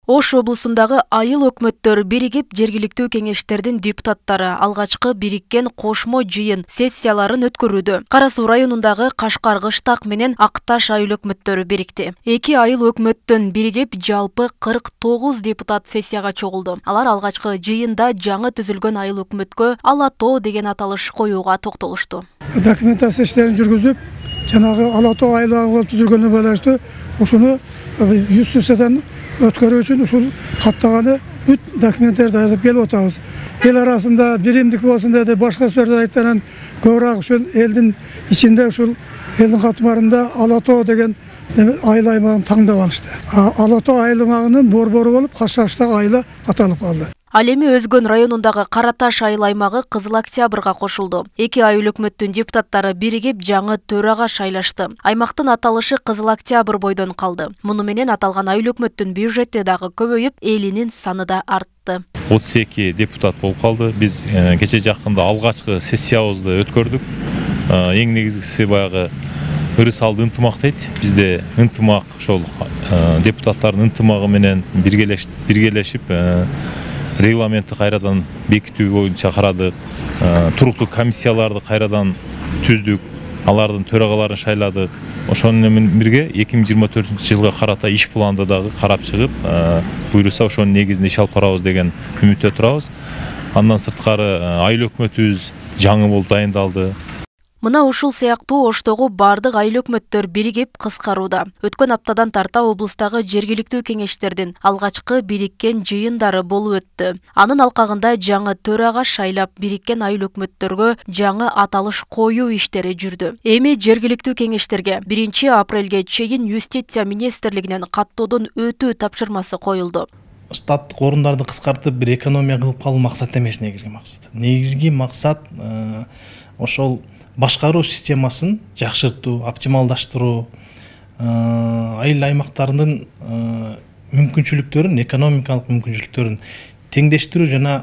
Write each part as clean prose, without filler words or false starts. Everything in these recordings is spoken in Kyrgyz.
Ош облусундагы айыл өкмөттөр биригип жергиликтүү кеңештердин депутаттары алгачкы бириккен кошмо жыйын сессияларын өткөрүүдө. Кара Суу районундагы Кашкар Кыштак менен Акташ айыл өкмөттөрү бирикти. Эки айыл өкмөттөн биригип жалпы 49 депутат сессияга чогулду. Алар алгачкы жыйында жаңы түзүлгөн айыл өкмөткө Ала Тоо деген аталыш коюуга токтолушту. Документация иштерин жүргүзүп, жанагы Ала Тоо айылы түзүлгөнүнө байланыштуу ушуну 100 сессиядан өткөрүү үчүн ушул каттаганы бүт документтерди даярдап келип атабыз. Эл арасында биримдик болсун деди, башка сөздөрдү айткандан көбүрөөк ушул элдин ичинде ушул элдин катмарында Ала Тоо деген айыл аймагын таңдап алышты. Ала Тоо айыл аймагынын борбору болуп Кашкартак айылы аталып калды. Ал эми Өзгөн районундагы Караташ айыл аймагы Кызыл Октябрга кошулду. Эки айыл өкмөттүн депутаттары биригип жаңы төрага шайлашты. Аймактын аталышы Кызыл Октябрь бойдон калды. Муну менен аталган айыл өкмөттүн бюджети дагы көбөйүп, элинин саны да артты. 32 депутат болуп калды. Биз кече жакында алгачкы сессиябызды өткөрдүк. Эң негизгиси баягы ырыс алды ынтымак дейт. Бизде ынтымак ошол депутаттардын ынтымагы менен биргелешип регламентти кайрадан бекитүү боюнча карадык. Туруктуу комиссияларды кайрадан түздүк. Алардын төрагаларын шайладык. Ошону менен бирге 2024-жылга карата иш планды дагы карап чыгып, буйруса ошонун негизинде иш алып барабыз деген үмүттө турабыз. Андан сырткары айыл өкмөтүбүз жаңы болуп дайындалды. Мына ушул сыяктуу Оштогу бардык айыл өкмөттөр биригип кыскарууда. Өткөн аптадан тарта облустагы жергиликтүү кеңештердин алгачкы бириккен жыйындары болуп өттү. Анын алкагында жаңы төрага шайлап бириккен айыл өкмөттөргө жаңы аталыш коюу иштери жүрдү. Эми жергиликтүү кеңештерге 1 апрелге чейин Юстиция министрлигинен каттоодон өтүү тапшырмасы коюлду. Штаттык орундарды кыскартып бир экономия кылып калуу максат эмес негизги максат. Негизги максат ошол башкаруу системасын жакшыртуу, оптималдаштыруу, айыл аймактарынын мүмкүнчүлүктөрүн, экономикалык мүмкүнчүлүктөрүн теңдештирүү жана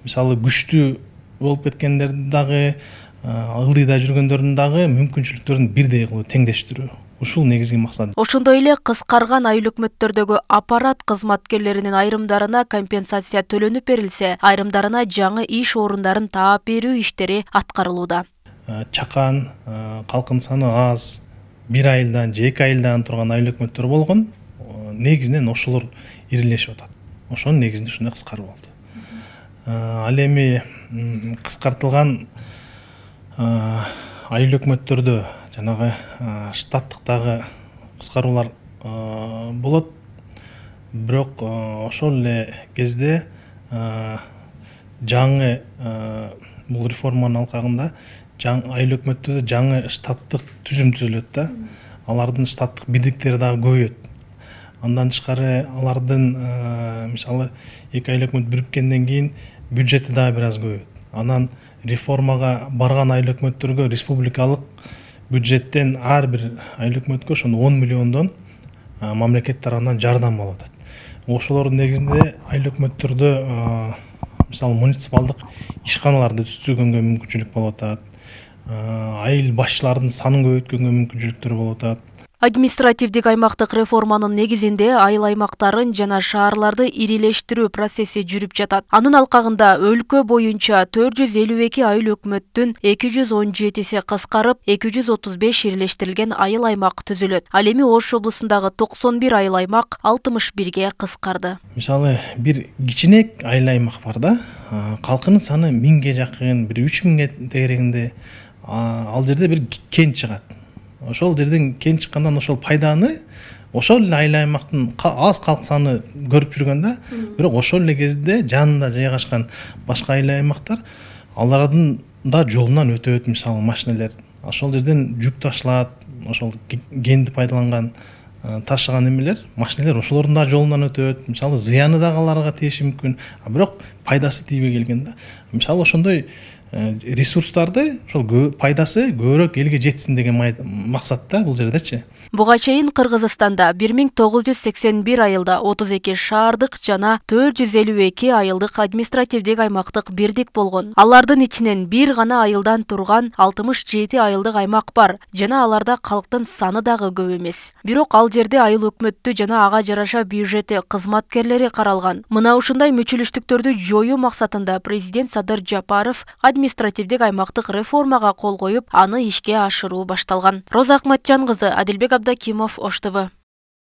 мисалы күчтүү болуп кеткендерди дагы, ылдыйда жүргөндөрдүн дагы мүмкүнчүлүктөрүн бирдей кылуу, теңдештирүү. Ушул негизги максат. Ошондой эле кыскарган айыл өкмөттөрдөгү аппарат кызматкерлеринин айрымдарына компенсация төлөнүп берилсе, айрымдарына жаңы иш орундарын таап берүү иштери аткарылууда. Чакан, калкын саны аз, 1 айылдан же 2 айылдан турган айыл өкмөттөр болгон, негизинен ошолор ирилешип атат. Ошонун негизинде ушундай кыскаруу болду. Ал эми кыскартылган айыл өкмөттөрдө жанагы штаттыктагы кыскаруулар болот. Бирок ошол эле кезде жаңы бул реформанын алкагында айыл өкмөттөрдө жаңы штаттык түзүм түзүлөт да. Алардын штаттык бирдиктери дагы көбөйөт. Андан тышкары алардын мисалы эки айыл өкмөт бириккенден кийин бюджети дагы бир аз көбөйөт. Анан реформага барган айыл өкмөттөргө республикалык бюджеттен ар бир айыл өкмөткө ошондо 10 миллиондон мамлекет тарабынан жардам болуп атат. Ошолордун негизинде айыл өкмөттөрдө мисалы муниципалдык ишканаларды түзүүгөнгө мүмкүнчүлүк болуп атат. Айыл башчылардын санын көбөйткөнгө мүмкүнчүлүктөр болуп атат. Административдик аймактык реформанын негизинде айыл аймактарын жана шаарларды ирилештирүү процесси жүрүп жатат. Анын алкагында өлкө боюнча 452 айыл өкмөттүн 217си кыскарып, 235 ирилештирилген айыл аймак түзүлөт. Ал эми Ош облусундагы 91 айыл аймак 61ге кыскарды. Мисалы бир кичинек айыл аймак бар да, калкынын саны 1000ге жакын, бир 3000ге тегерегинде. Ал жерде бир кен чыгат. Ошол жерден кен чыккандан ошол пайданы ошол эле айыл аймактын аз калк саны көрүп жүргөн да. Бирок ошол эле кезде жанында жайгашкан башка айыл аймактар алардын да жолунан өтөт, мисалы машиналер. Ошол жерден жүк ташылат, ошол кенди пайдаланган ташыган эмелер, машиналер ошолордун да жолунан өтөт. Мисалы зыяны дагы аларга тийиши мүмкүн. Бирок пайдасы тийбей келген да. Мисалы ошондой ресурстарды ошол пайдасы көбүрөөк элге жетсин деген максатта бул жердечи. Буга чейин Кыргызстанда 1981 айылда 32 шаардык жана 452 айылдык административдик аймактык бирдик болгон. Алардын ичинен бир гана айылдан турган 67 айылдык аймак бар жана аларда калктын саны дагы көп эмес. Бирок ал жерде айыл өкмөттү жана ага жараша бюджети кызматкерлери каралган. Мына ушундай мүчүлүштүктөрдү жоюу максатында президент Садыр Жапаров административдик аймактык реформага кол коюп, аны ишке ашыруу башталган. Роза Акматжан кызы, Адилбек Абдакимов, Ош ТВ.